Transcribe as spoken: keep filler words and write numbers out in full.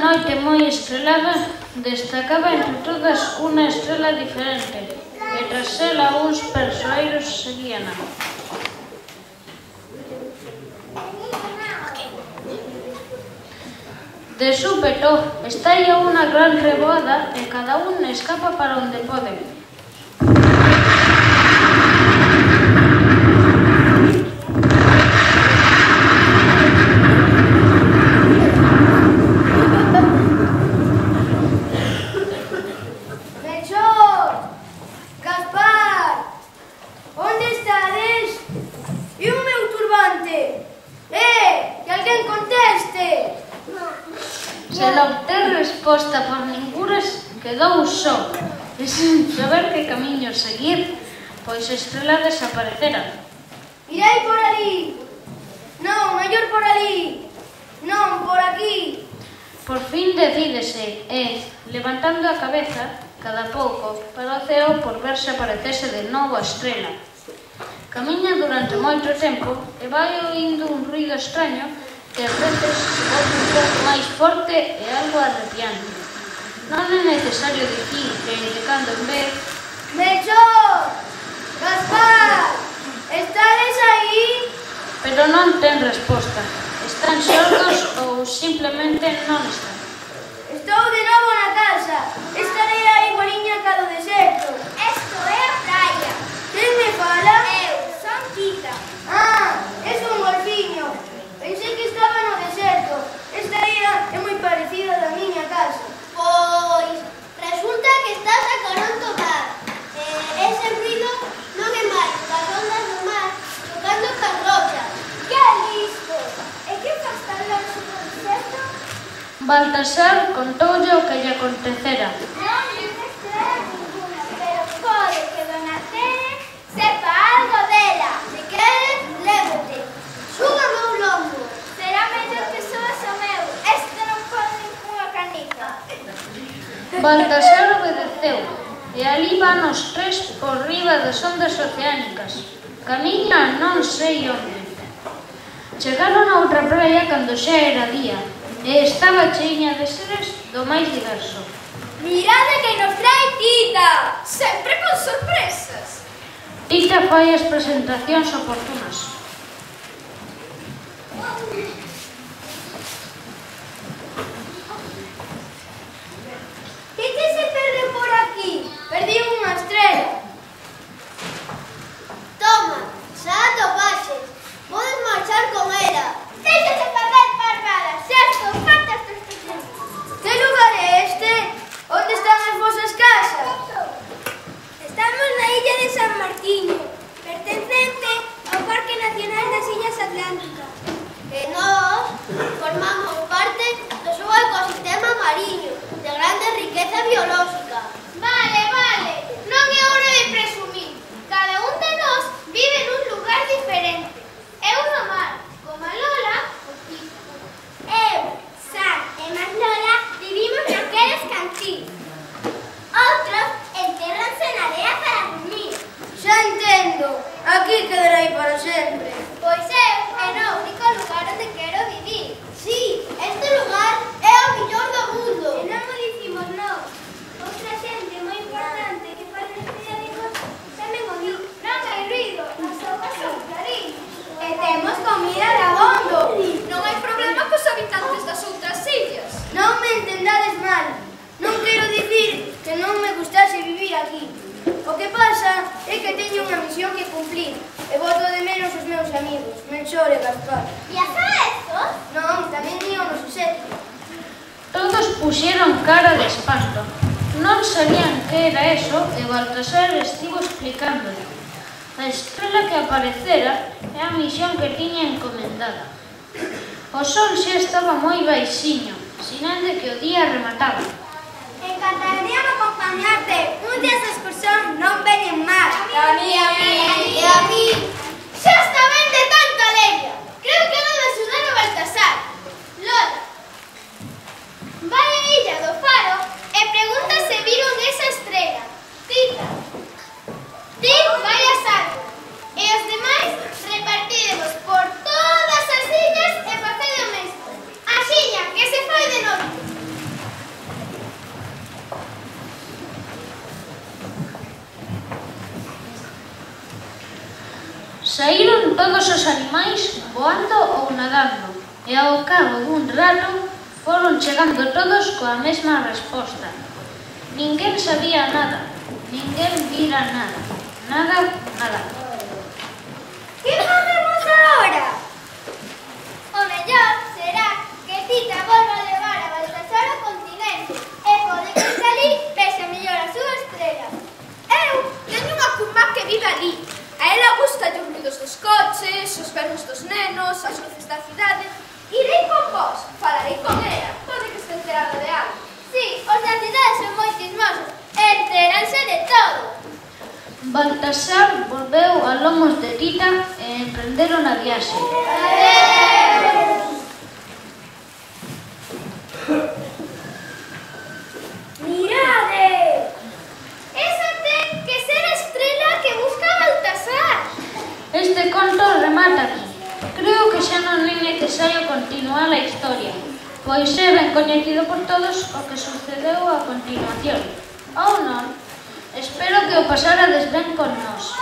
noite moi estrelada, destacaba entre todas unha estrela diferente, e tras ela uns persoeiros seguíana. De súpeto, estalla unha gran reboada e cada un escapa para onde pode. Se non ten resposta por ninguras, quedou só, e sen saber que camiño seguir, pois a estrela desaparecera. Irei por ali. Non, mellor por ali. Non, por aquí. Por fin decídese e, levantando a cabeza, cada pouco, para o ceo por ver se aparecese de novo a estrela. Camiña durante moito tempo e vai oindo un ruido extraño que a veces se volve un pouco máis forte e algo arrepiante. Non é necesario dicir que de cando en vez... Melchor! Gaspar! Estades aí? Pero non ten resposta. Están xordos ou simplemente non están. Estou de novo na casa. Esta era igualiña ca do deserto. Esto é a praia. Quen me fala? Eu, son Tita. Ah, es un golfiño. Pensei que estaba no deserto. Esta era é moi parecida da miña casa. Pois, resulta que estás a carón do mar. Eh, ese ruido non é máis das ondas do mar tocando cas rochas. Que listo! E que faz tan longe do deserto? Baltasar contoulle o que lle acontecera. Non lle estrela ninguna, pero pode que Dona Tere sepa algo dela. Se queres, lévote. Súbame un lombo. Será mellor que subas o meu. Este non pode ninguna canica. Baltasar obedeceu, e ali van os tres por riba das ondas oceánicas. Camiña non sei onde. Chegaron a outra praia cando xa era día, e estaba cheiña de seres do máis diverso. Mirade que nos trae Tita! Sempre con sorpresas. Tita fai as presentacións oportunas. Que se perde por aquí? Perdí unha estrela. Toma, xa atopaches. Podes marchar con ela. Deixate perder, parvada. Xa estou farta estes presentes. Que lugar é este? Onde están as vosas casas? Estamos na illa de San Martiño, pertencente ao Parque Nacional das Illas Atlánticas. E nós formamos parte do seu ecosistema mariño, de grande riqueza biolóxica. Vale, vale, non é hora de presumir. Cada un de nós vive nun lugar diferente. Eu no mar, como a Lola, o piso. Eu, San e máis Lola vivimos naqueles cantíns. Outros entérranse na area para dormir. Xa entendo. Aquí quedarei para sempre. Pois eu é no único lugar onde quero vivir. Sí, este lugar é o millor do mundo. E non o dicimos nós. Outra xente moi importante que faz neste amigos tamén o di. Non hai ruido, as augas son clariñas. E temos comida de abondo. Non hai problema cos habitantes das outras illas. Non me entendades mal. Non quero dicir que non me gustase vivir aquí. O que pasa é que teño unha misión que cumplir e boto de menos os meus amigos, Melchor e Gaspar. E a estos? Non, tamén ío no suceso. Todos puxeron cara de espanto. Non sabían que era eso e Baltasar estivo explicándole. A estrela que aparecera é a misión que tiña encomendada. O sol xa estaba moi baixiño, sinal de que o día remataba. Encantaría acompañarte. Un día esa excursión non veñen máis. A mí, a mí, e a mí. Xa está ben de tanta leña. Creo que non de axudar a Baltasar. Lola, vai a illa do Faro e pregunta se viron esa estrela. Tita, ti vai a Salvo. E os demais repartiremos por todas as illas e facede o mesmo. Axiña, que se fai de noite. todos os animais voando ou nadando, e ao cabo dun rato foron chegando todos coa mesma resposta. Ninguén sabía nada, ninguén vira nada, nada, nada. Que facemos agora? O mellor será que Tita volva a levar a Baltasar ao continente e pode que salí vexa mellor a súa estrela. Eu teño unha curmá que vive ali. A ela gusta os ruidos dos coches, os berros dos nenos, as luces da cidade. Irei con vos, falarei con ela, pode que este enterada de algo. Sí, os da cidade son moi chismosos, enteranse de todo. Baltasar volveu a lomos de Tita e emprenderon a viaxe. Mirade! Esa ten que ser a estrela que busca Baltasar. Este conto remata aquí. Creo que xa non é necesario continuar a historia, pois é ben coñecido por todos o que sucedeu a continuación. Ou non? Espero que o pasarades ben con nós.